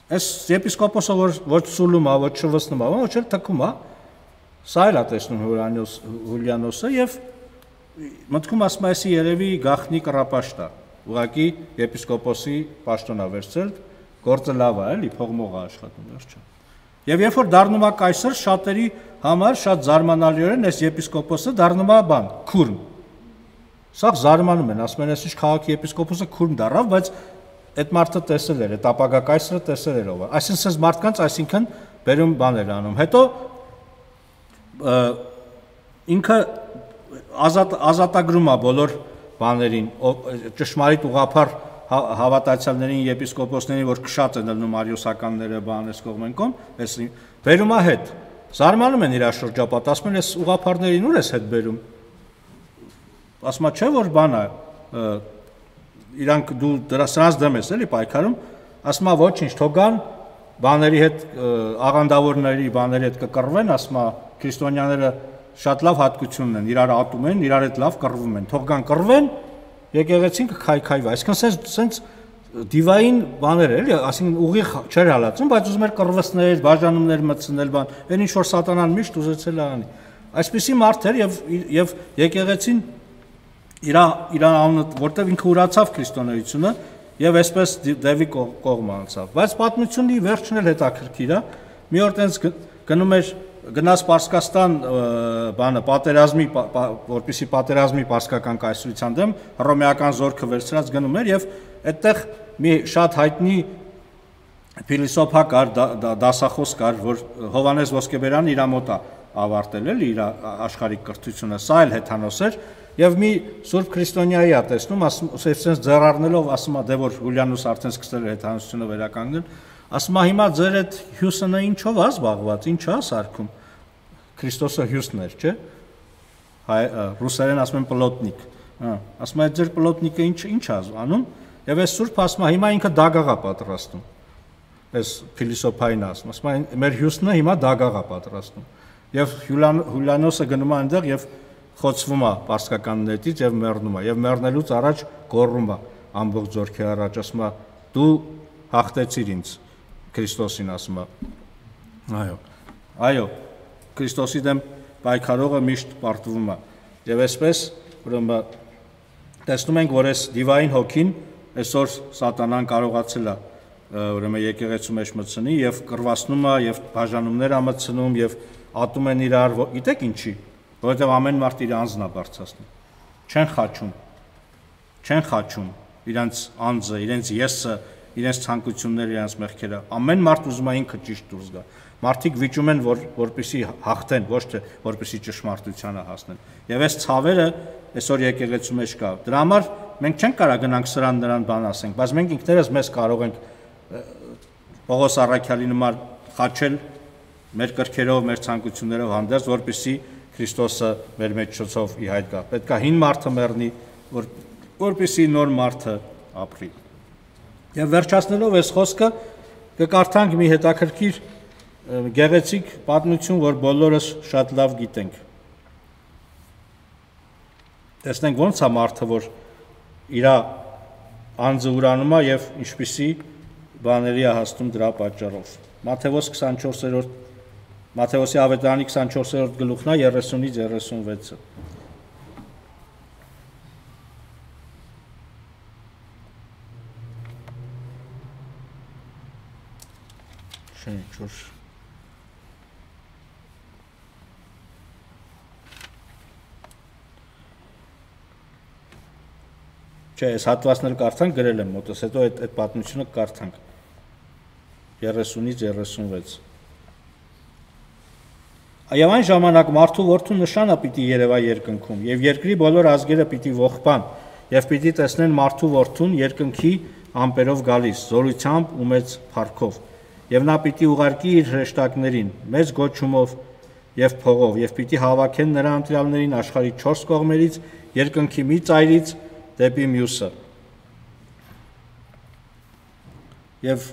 Այս եպիսկոպոսը որ սուլում ա, ոչ շվացնում ա, ոչ էլ թքում ա, սա էլ ա տեսնում Հուլիանոսը եւ մտքում ասում է, այսի երևի գախնի կռապաշտ ա։ Ուղղակի եպիսկոպոսի պաշտոն ա վերցրել, գործը լավ ա, էլի, փողմող ա աշխատում, վերջը։ Եվ երբ որ դառնում է կայսր, շատերի համար շատ զարմանալիորեն այս եպիսկոպոսը դառնում է բան, քուրմ։ Սա զարմանում են, ասում են, այս ինչ քաղաքի եպիսկոպոսը քուրմ դառավ, բայց այդ մարդը տեսել էր, այդ ապագա կայսրը տեսել էր ով է։ Այսինքն այս մարդկանց, այսինքն բերում բաներ անում։ Հետո ինքը ազատագրում է բոլոր բաներին, ճշմարիտ ուղղափառ հավատացյալներին, եպիսկոպոսներին, որ քշած են ելնում արիոսականները, բան էս կողմեն կողմ, էս բերում է հետ։ Զարմանում են իր շրջապատ, ասում են, էս ուղղափառներին ուր ես հետ բերում։ Ասում է, չէ՞ որ բան է, իրանք դու սրանց դեմ ես էլի պայքարում, ասում է, ոչինչ, թողան բաների հետ, աղանդավորների բաների հետ կկռվեն, ասում է, քրիստոնյաները շատ լավ հատկություն են, իրար ատում են, իրար հետ լավ կռվում են, թողան կռվեն, եկեղեցին կքայքայվի, այսինքն սենց դիվային բաներ էլի, այսինքն ուղիղ չէր հալածում, բայց ուզում էր կռվեցնել, բաժանումներ մտցնել, բան, այն ինչ որ սատանան միշտ ուզեցել է անի։ Այսպիսի մարդ էր եւ եկեղեցին իր անունը, որտեվ ինքը ուրացավ քրիստոնեությունը եւ այսպես դեպի կողմ անցավ։ Բայց պատմությունի վերջն էլ հետաքրքիր է։ Մի օր տենց գնում էր գնաց Պարսկաստան բանը պատերազմի, որպեսի պատերազմի պարսկական կայսրության դեմ հռոմեական զորքը վերցրած գնում էր եւ այդտեղ մի շատ հայտնի փիլիսոփա կար, դասախոս կար, որ Հովանես Ոսկեբերյանը իր մոտ է ավարտել էլի իր աշխարհիկ կրթությունը, սա էլ հեթանոս էր եւ մի սուրբ քրիստոնյայի է տեսնում, ասում ասես ձեռառնելով, ասում է դե որ Հուլիանոսը արդեն սկսել է հեթանոսությունը վերականգնել, ասում է հիմա ձեր այդ հյուսնը ինչով է զբաղված, ինչ է սարքում։ Քրիստոսը հյուսն էր, չէ՞։ Ռուսերեն ասում են պլոտնիկ։ Ասում է ձեր պլոտնիկը ինչ է անում, եւ այս սուրբ ասում է հիմա ինքը դագաղ է պատրաստում։ Այս փիլիսոփային ասում է մեր հյուսնը հիմա դագաղ է պատրաստում։ Եվ Հուլիանոսը գնում է այնտեղ եւ խոցվում է պարսկական նետից եւ մեռնում է եւ մեռնելուց առաջ գոռում է ամբողջ զորքի առաջ, ասում է դու հաղթեցիր ինձ, Քրիստոսին ասում է։ Այո, Քրիստոսի դեմ պայքարողը միշտ պարտվում է։ Եվ այսպես, ուրեմն տեսնում ենք, որ այս դիվային հոգին այսօր սատանան կարողացել է ուրեմն եկեղեցու մեջ մտցնի եւ կռվացնում է եւ բաժանումներ է մտցնում եւ ատում են իրար, գիտեք ինչի, որովհետեւ ամեն մարդ իր անձն է բարձրացնում։ Չեն խաչում իրենց անձը, իրենց եսը, իրենց ցանկությունները, իրենց մեղքերը։ Ամեն մարդ ուզում է ինքը ճիշտ դուրս գա։ Մարդիկ վիճում են, որպեսզի հաղթեն, ոչ թե որպեսզի ճշմարտությանը հասնեն։ Եվ այս ցավերը այսօր եկեղեցու մեջ կա։ Դրա համար մենք չենք կարող գնանք սրան նրան բան ասենք, բայց մենք ինքներս մեզ կարող ենք Պողոս առաքյալի նման խաչել մեր կրքերով, մեր ցանկություններով հանդերձ, որպեսզի Քրիստոսը մեր մեջ ցոցով ի հայտ գա։ Պետք է հին մարդը մեռնի, որպեսզի նոր մարդը ապրի։ Եվ վերջացնելով այս խոսքը կկարդանք մի հետաքրքիր գեղեցիկ պատմություն, որ բոլորս շատ լավ գիտենք։ Տեսնենք ոնց է մարդը, որ իր անձը ուրանում է եւ ինչպիսի բաների է հասնում դրա պատճառով։ Մատթեոսի ավետարանի 24-րդ գլուխն է 30-ից 36-ը։ Չէ, այս հատվածները կարդանք, գրել եմ մոտս, հետո այդ պատմությունը կարդանք 30-ից 36։ Եվ այն ժամանակ մարդու որդու նշանը պիտի երևա երկնքում, եւ երկրի բոլոր ազգերը պիտի ողբան, եւ պիտի տեսնեն մարդու որդուն երկնքի ամպերով գալիս, զորությամբ ու մեծ փառքով, եւ նա պիտի ուղարկի իր հրեշտակներին, մեծ գոչումով եւ փողով, եւ պիտի հավաքեն նրա ընտրյալներին աշխարհի 4 կողմերից, երկնքի մի ծայրից դեպի մյուսը։ Եվ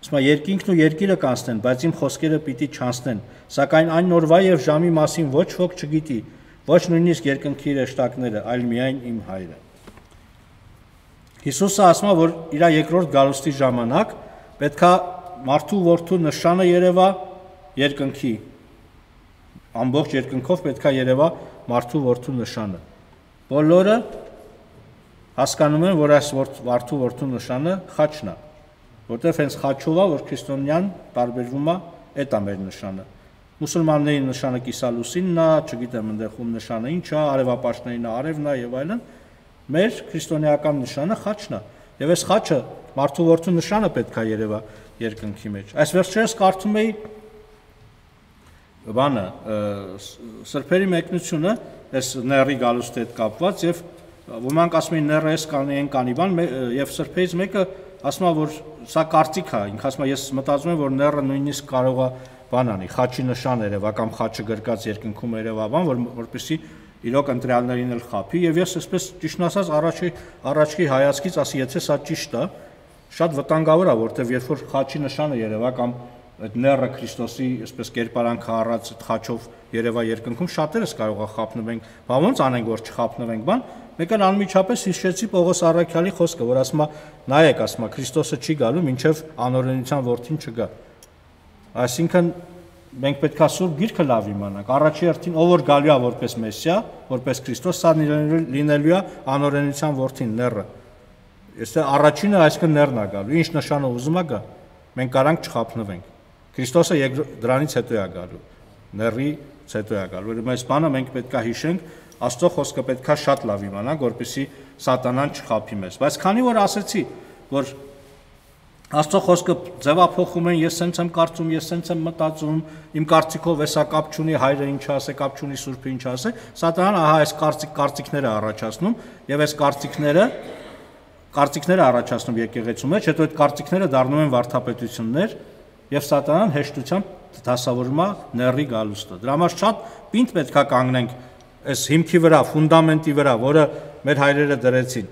երկինքն ու երկիրը կանցնեն, բայց իմ խոսքերը պիտի չանցնեն, սակայն այն օրվա եւ ժամի մասին ոչ ոք չգիտի, ոչ նույնիսկ երկնքի հրեշտակները, այլ միայն իմ Հայրը։ Հիսուսը ասում է, որ իր երկրորդ գալուստի ժամանակ պետքա մարդու որդու նշանը երևա երկնքի, ամբողջ երկնքով պետքա երևա մարդու որդու նշանը։ Բոլորը հասկանում են, որ այս մարդու որդու նշանը խաչն է, որտեղ հենց խաչով է, որ քրիստոնյան տարբերվում է, այդ է մեր նշանը։ Մուսուլմանների նշանը կիսալուսինն է, չգիտեմ այնտեղ ում նշանը ինչ է, արևապաշտներին արևն է եւ այլն։ Մեր քրիստոնեական նշանը խաչն է։ Եվ այս խաչը մարդու որդու նշանը պետք է երևա երկնքի մեջ։ Այս վերջերս կարդում էի բանը սրբերի մեկնությունը, այս նեռի գալուստի հետ կապված եւ ոմանք ասում են նեռը էս կանի բան եւ սրբերից մեկը ասում է, որ սա կարծիք է, ինքը ասում է, ես մտածում եմ, որ նեռը նույնիսկ կարող է բան անի, խաչի նշան երևա կամ խաչը գրկած երկնքում երևա բան, որպեսզի իրոք ընտրյալներին էլ խափի եւ ես այսպես ճիշտ ասած առաջի հայացքից ասի, եթե սա ճիշտ է, շատ վտանգավոր է, որտեվ երբ որ խաչի նշանը երևա կամ այդ նեռը Քրիստոսի այսպես կերպարանքը առած խաչով երևա երկնքում, շատերս կարող է խափնվենք, բա ոնց անենք, որ չխափնվենք, բան, մեկը անմիջապես հիշեցի Պողոս առաքյալի խոսքը, որ ասում է, նայեք, ասում է, Քրիստոսը չի գալու, մինչև անօրենության որդին չգա։ Այսինքն մենք պետք է Սուրբ Գիրքը լավ իմանանք։ Առաջի հերթին ով որ գալու է որպես Մեսիա, որպես Քրիստոս, սա լինելու է անօրենության որդին, նեռը։ Եթե առաջինը այսինքն նեռն է գալու, ինչ նշանը ուզում է գա, մենք կարանք չխափնվենք։ Քրիստոսը դրանից հետո է գալու, նեռից հետո է գալու։ Ուրեմն այս բանը մենք պետք է հիշենք, Աստծո խոսքը պետք է շատ լավ իմանանք, որպեսզի սատանան չխափի մեզ։ Բայց քանի որ ասեցի, որ Աստծո խոսքը ձևափոխում են, ես սենց եմ կարծում, ես սենց եմ մտածում, իմ կարծիքով էսա կապ չունի, հայրը ինչ ասե, կապ չունի, Սուրբը ինչ ասե, սատանան ահա այս կարծիքները առաջացնում եւ այս կարծիքները առաջացնում եկեղեցու մեջ, հետո այդ կարծիքները դառնում են վարդապետություններ եւ սատանան հեշտությամբ դասավորում է նեռի գալուստը։ Դրա համար շատ պինդ պետք է կանգնենք այս հիմքի վրա, ֆունդամենտի վրա, որը մեր հայրերը դրեցին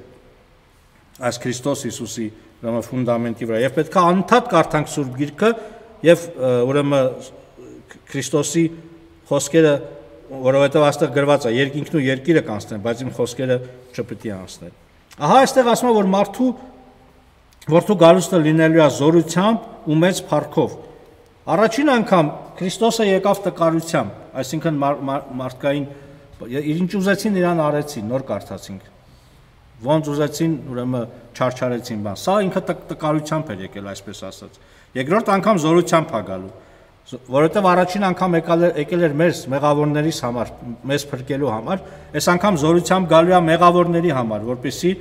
այս Քրիստոս Հիսուսի ֆունդամենտի վրա, եւ պետք է անընդհատ կարդանք Սուրբ Գիրքը եւ ուրեմն Քրիստոսի խոսքերը, որովհետեւ այստեղ գրված է երկինքն ու երկիրը կանցնեն, բայց իմ խոսքերը չպետք է անցնեն։ Ահա այստեղ ասում է, որ մարդու Որդու գալուստը լինելու է զորությամբ ու մեծ փառքով։ Առաջին անգամ Քրիստոսը եկավ տկարությամբ, այսինքն մարդկային ինչ ուզեցին իրան արեցին, նոր կարդացինք։ Ոնց ուզեցին, ուրեմն չարչարեցին բան։ Սա ինքը տկարությամբ էր եկել, այսպես ասած։ Երկրորդ անգամ զորությամբ է գալու, որովհետև առաջին անգամ եկել էր մեզ մեղավորներիս համար, մեզ փրկելու համար, այս անգամ զորությամբ գալու է մեղավորների համար, որպեսզի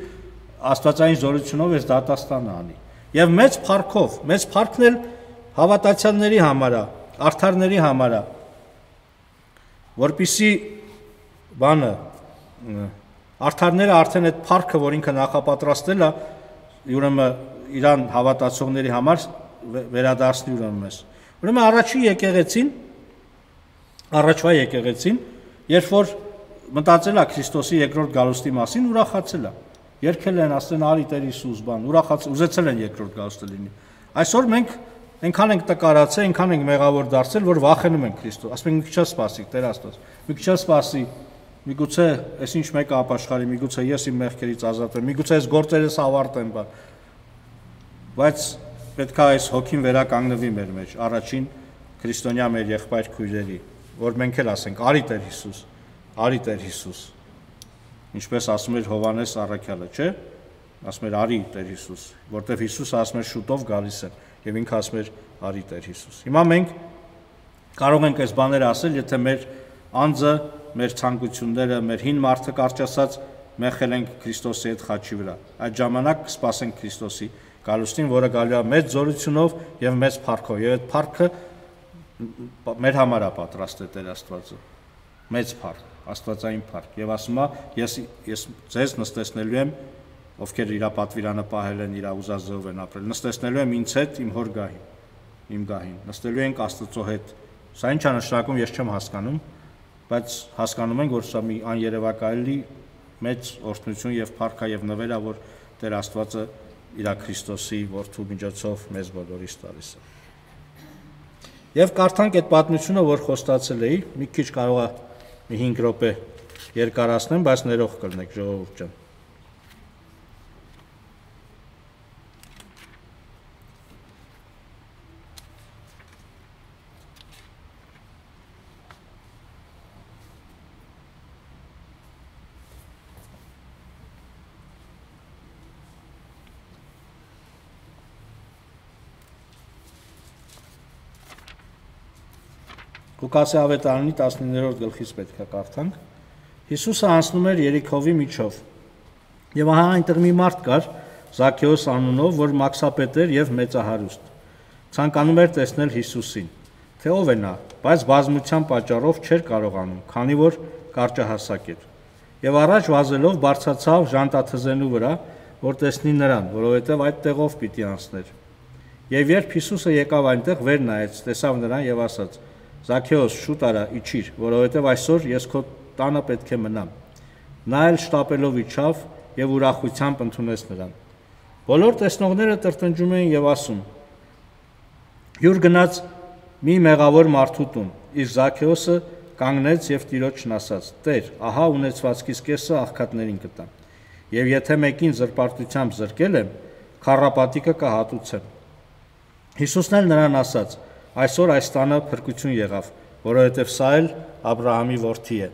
աստվածային զորությունով այս դատաստանը անի։ Եվ մեծ փառքն էլ հավատացյալների համար է, արդարների համար է, որպեսզի բանը արդարները արդեն այդ փառքը, որ ինքը նախապատրաստել է, ուրեմն իրան հավատացողների համար վերադարձնի ուրեմն մեզ։ Ուրեմն առաջվա եկեղեցին, երբ որ մտածել է Քրիստոսի երկրորդ գալուստի մասին, ուրախացել է։ Երգել են, ասեն արի Տեր Հիսուս բան, ուզեցել են երկրորդ գալուստը լինի։ Այսօր մենք այնքան ենք տկարացել, այնքան ենք մեղավոր դարձել, որ վախենում ենք Քրիստոս։ Ասում ենք մի քիչ սպասի, Տեր Աստված, մի քիչ սպասի, միգուցե այսինչ մեկը ապաշխարի, միգուցե ես իմ մեղքերից ազատվեմ, միգուցե այս գործերս ավարտեմ, բան։ Բայց պետք է այս հոգին վերականգնվի մեր մեջ, առաջին քրիստոնյա մեր եղբայր քույրերի, որ մենք էլ ասենք արի Տեր Հիսուս, արի Տեր Հիսուս։ Ինչպես ասում էր Հովհաննես առաքյալը, չէ՞։ Ասում էր արի Տեր Հիսուս, որտեղ Հիսուսը ասում էր շուտով գալիս է, եւ ինքը ասում էր արի Տեր Հիսուս։ Հիմա մենք կարող ենք այս բաները ասել, եթե մեր անձը, մեր ցանկությունները, մեր հին մարդը կարճ ասած մեղել ենք Քրիստոսի հետ խաչի վրա։ Այդ ժամանակ կսպասենք Քրիստոսի գալուստին, որը գալու է մեծ զորությունով եւ մեծ փառքով, եւ այդ փառքը մեր համար է պատրաստել Տեր Աստվածը։ Մեծ փառք, աստվածային փառք, եւ ասում է ես ձեզ նստեցնելու եմ, ովքեր իր պատվիրանը պահել են, իր ուզածով են ապրել, նստեցնելու եմ ինձ հետ իմ հոր գահին, իմ գահին, նստելու ենք Աստծո հետ։ Սա ինչ է նշանակում, ես չեմ հասկանում, բայց հասկանում ենք, որ սա մի աներևակայելի մեծ օրհնություն եւ փառք է եւ նվեր է, որ Տեր Աստվածը իր Քրիստոսի որդու միջոցով մեզ բոլորիս տալիս է։ Եվ կարդանք այդ պատմությունը, որ խոստացել էի, մի քիչ կարող է մի 5 րոպե երկարացնեմ, բայց ներող կլնեք, ժողովուրդ ջան։ Ղուկասի ավետարանի 19-րդ գլխից պետք է կարդանք։ Հիսուսը անցնում էր Երիքովի միջով։ Եվ ահա այնտեղ մի մարդ կար, Զաքեոս անունով, որ մաքսապետ էր եւ մեծահարուստ։ Ցանկանում էր տեսնել Հիսուսին, թե ով է նա, բայց բազմության պատճառով չէր կարողանում, քանի որ կարճահասակ էր։ Եվ առաջ վազելով բարձրացավ ժանտաթզենու վրա, որ տեսնի նրան, որովհետեւ այդ տեղով պիտի անցներ։ Եվ երբ Հիսուսը եկավ այնտեղ, վեր նայեց, տեսավ նրան եւ ասաց. Զաքեոս, շուտ արա, իջիր, որովհետև այսօր ես քո տանը պետք է մնամ։ Նա էլ շտապելով իջավ եւ ուրախությամբ ընդունեց նրան։ Բոլոր տեսնողները տրտնջում էին եւ ասում. Հյուր գնաց մի մեղավոր մարդու տուն, իսկ Զաքեոսը կանգնեց եւ Տիրոջն ասաց. Տեր, ահա ունեցվածքիս կեսը աղքատներին կտամ։ Եվ եթե մեկին զրպարտությամբ զրկել եմ, քառապատիկը կհատուցեմ։ Հիսուսն էլ նրան ասաց. Այսօր այս տանը փրկություն եղավ, որովհետև սա էլ Աբրահամի որդի է,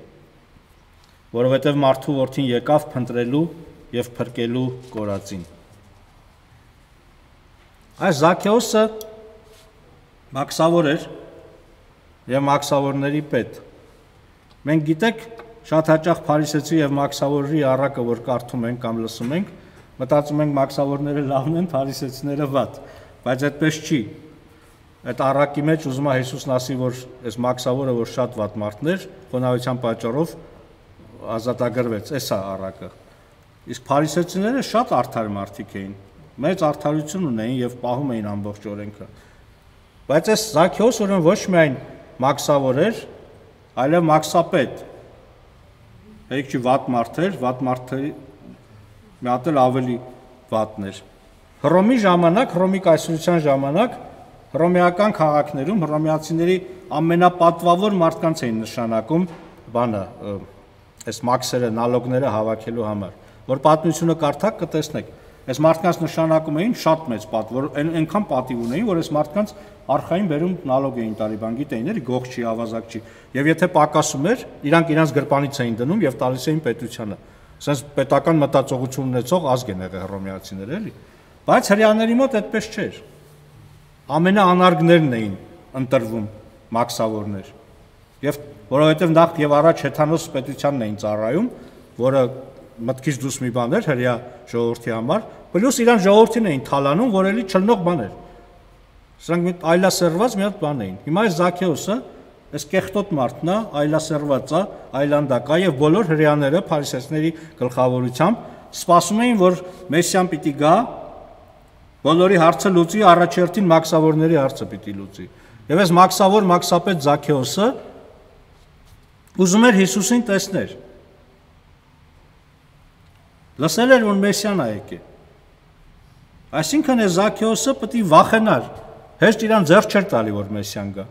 որովհետև մարդու որդին եկավ փնտրելու եւ փրկելու կորածին։ Այս Զաքեոսը մաքսավոր էր եւ մաքսավորների պետ։ Մենք գիտեք, շատ հաճախ փարիսեցի եւ մաքսավորի առակը, որ կարդում ենք կամ լսում ենք, մտածում ենք մաքսավորները լավն են, փարիսեցիները վատ, բայց այդպես չի։ Այդ առակի մեջ ուզում է Հիսուսն ասի, որ այս մաքսավորը, որ շատ վատ մարդն էր, խոնավության պատճառով ազատագրվեց, էս է առակը։ Իսկ փարիսեցիները շատ արդար մարդիկ էին, մեծ արդարություն ունեին եւ պահում էին ամբողջ օրենքը։ Բայց այս Զաքեոս ուրեմն ոչ միայն մաքսավոր էր, այլև մաքսապետ։ Հեկ չի վատ մարդ էր, վատ մարդերի մի հատ էլ ավելի վատն էր։ Հռոմի ժամանակ, Հռոմի կայսրության ժամանակ հռոմեական քաղաքներում հռոմեացիների ամենապատվավոր մարդկանց էին նշանակում բանը, այս մաքսերը, նալոգները հավաքելու համար, որ պատմությունը կարդաք կտեսնեք, Այս մարդկանց նշանակում էին շատ մեծ պատ, որ այնքան պատիվ ունեին, որ այս մարդկանց արխային բերում նալոգ էին տալի, բան գիտեին, էլի գող չի, ավազակ չի։ Եվ եթե պակասում էր, իրանք իրանց գրպանից էին դնում եւ տալիս էին պետությանը։ Ասես պետական մտածողություն ունեցող ազգ են եղել հռոմեացիները, էլի։ Բայց հрьяաների մոտ այդպես չէր։ Ամենաանարգներն էին ընտրվում մաքսավորներ։ Եվ որովհետեւ նախ եւ առաջ հեթանոս պետությանն էին ծառայում, որը մտքից դուրս մի բան էր հрья ժողովրդի համար, պլյուս իրան ժողովրդին էին թալանում, որ էլի չլնող բան էր։ Սրանք այլասերված մի հատ բան էին։ Հիմա այս Զաքեոսը, այս կեղտոտ մարդն է, այլասերված է, այլանդակ է եւ բոլոր հрьяաները փարիսեցիների գլխավորությամբ սպասում էին, որ Մեսիան պիտի գա, բոլորի հարցը լուծի, առաջերտին մաքսավորների հարցը պիտի լուծի։ Եվ այս մաքսապետ Զաքեոսը ուզում էր Հիսուսին տեսնել։ Լսել էր, որ Մեսիան է եկել։ Այսինքն այս Զաքեոսը պետք է վախենար, հեշտ իրան ձեռք չէր տալի, որ Մեսիան գա։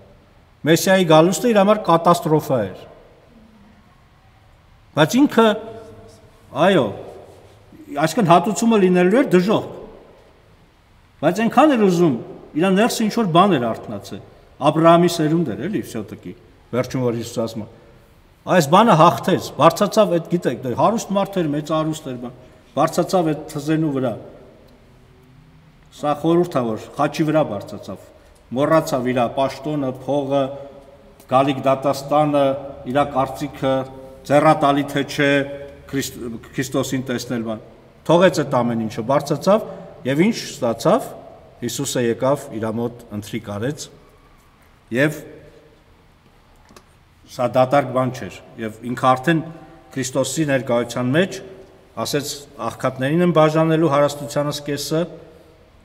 Մեսիայի գալուստը իր համար կատաստրոֆա էր։ Բայց ինքը, այո, այսինքն հատուցումը լինելու էր դժոխք։ Բայց այնքան էր ուզում, իր ներսը ինչ-որ բան էր արթնացել։ Աբրահամի սերունդ էր, էլի, всё-таки, վերջում որ Հիսուս ասում է։ Այս բանը հաղթեց, բարձացավ այդ, գիտեք, հարուստ մարդ էր, մեծ հարուստ էր, բարձացավ այդ թզենու վրա։ Սա խորհուրդ է, որ խաչի վրա բարձացավ, մոռացավ իր պաշտոնը, փողը, գալիք դատաստանը, իր կարծիքը, ձեռատալի թե չէ Քրիստոսին տեսնել բան։ Թողեց այդ ամեն ինչը, բարձացավ եւ ինչ ստացավ, Հիսուսը եկավ իր մոտ ընթրիք արեց եւ սա դատարկ բան չէր եւ ինքը արդեն Քրիստոսի ներկայության մեջ ասեց աղքատներին են բաժանելու հարստությանս կեսը,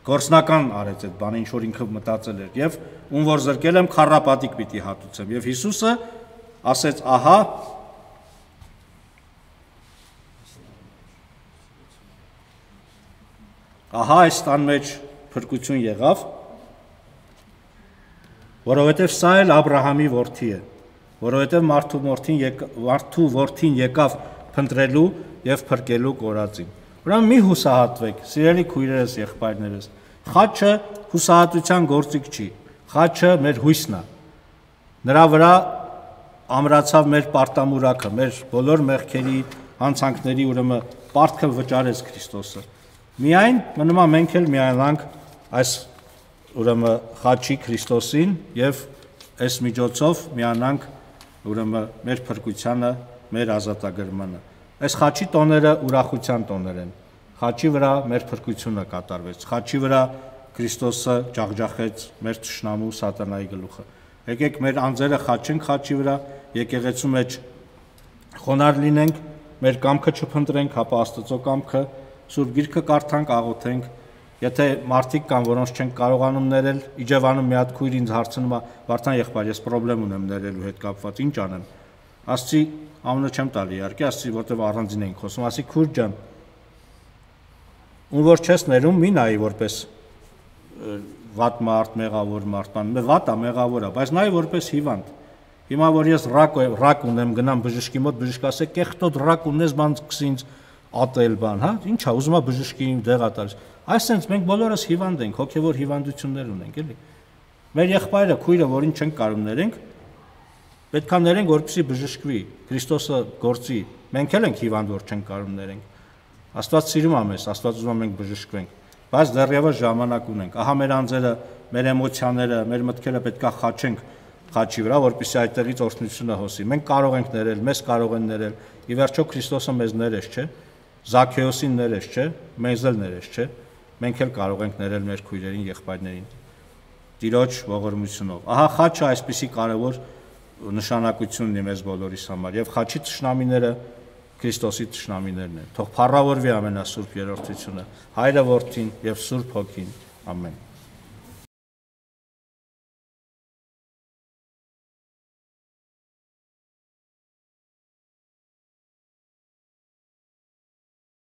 գործնական արեց այդ բանը, ինչ որ ինքը մտածել էր եւ ում որ զրկել եմ քառապատիկ պիտի հատուցեմ եւ Հիսուսը ասեց ահա այս տան մեջ փրկություն եղավ, որովհետեւ սա էլ Աբրահամի որդի է, որովհետեւ մարդու որդին եկավ փնտրելու եւ փրկելու կորածին։ Ուրեմն մի հուսահատվեք, սիրելի քույրերս, եղբայրներս, խաչը հուսահատության գործիք չի, խաչը մեր հույսն է, նրա վրա ամրացավ մեր պարտամուրակը, մեր բոլոր մեղքերի, հանցանքների ուրեմն պարտքը վճարեց Քրիստոսը, միայն մնում է մենք էլ միանանք այս ուրեմն խաչի Քրիստոսին եւ այս միջոցով միանանք ուրեմն մեր փրկությանը, մեր ազատագրմանը։ Այս խաչի տոները ուրախության տոներ են։ Խաչի վրա մեր փրկությունը կատարվեց։ Խաչի վրա Քրիստոսը ջախջախեց մեր թշնամու սատանայի գլուխը։ Եկեք մեր անձերը խաչենք խաչի վրա, եկեղեցու մեջ խոնարհ լինենք, մեր կամքը չփնտրենք, հապա Աստծո կամքը, Սուրբ Գիրքը կարդանք, աղոթենք։ Եթե մարդիկ կան, որոնց չեն կարողանում ներել, Իջևանում մի հատ քույր ինձ հարցնում է, Վարդան եղբայր, ես խնդրեմ ունեմ ներելու հետ կապված, ինչ անեմ։ Ասացի, ամենը չեմ տալի, իհարկե, ասացի, որտեվ առանձին ենք խոսում, ասի քույր ջան, ում որ չես ներում, մի նայի որպես վատ մարդ, մեղավոր մարդ, վատ է, մեղավոր է, բայց նայի որպես հիվանդ։ Հիմա որ ես ռակ ունեմ, գնամ բժշկի մոտ, բժիշկը ասե, կեղտոտ ռակ ունես, բան սկսի ինձ ատել բան, հա, ինչ է, ուզում է բժշկին դեղա տալիս։ Այսինքն մենք բոլորս հիվանդ ենք, հոգևոր հիվանդություններ ունենք, էլի։ Մեր եղբայրը, քույրը, որին չենք կարող ներենք, պետք է ներենք, որպեսզի բժշկվի, Քրիստոսը գործի։ Մենք էլ ենք հիվանդ, որ չենք կարող ներենք։ Աստված սիրում է մեզ, Աստված ուզում է մենք բժշկվենք, բայց դեռևս ժամանակ ունենք։ Ահա մեր անձերը, մեր էմոցիաները, մեր մտքերը պետք է խաչենք խաչի վրա, որպեսզի այդտեղից օրհնությունը հոսի։ Մենք կարող ենք ներել, մեզ կարող են ներել։ Ի վերջո Քրիստոսը մեզ ներեց, չէ՞։ Զաքեոսին ներեց, չէ՞։ Մեզ էլ ներեց, չէ՞։ Մենք էլ կարող ենք ներել մեր քույրերին, եղբայրներին։ Տիրոջ ողորմությունով։ Ահա խաչը այսպիսի կարևոր նշանակություն ունի մեզ բոլորիս համար եւ խաչի թշնամիները Քրիստոսի թշնամիներն են։ Թող փառավորվի ամենասուրբ երրորդությունը, Հայրը, Որդին եւ Սուրբ Հոգին։ Ամեն։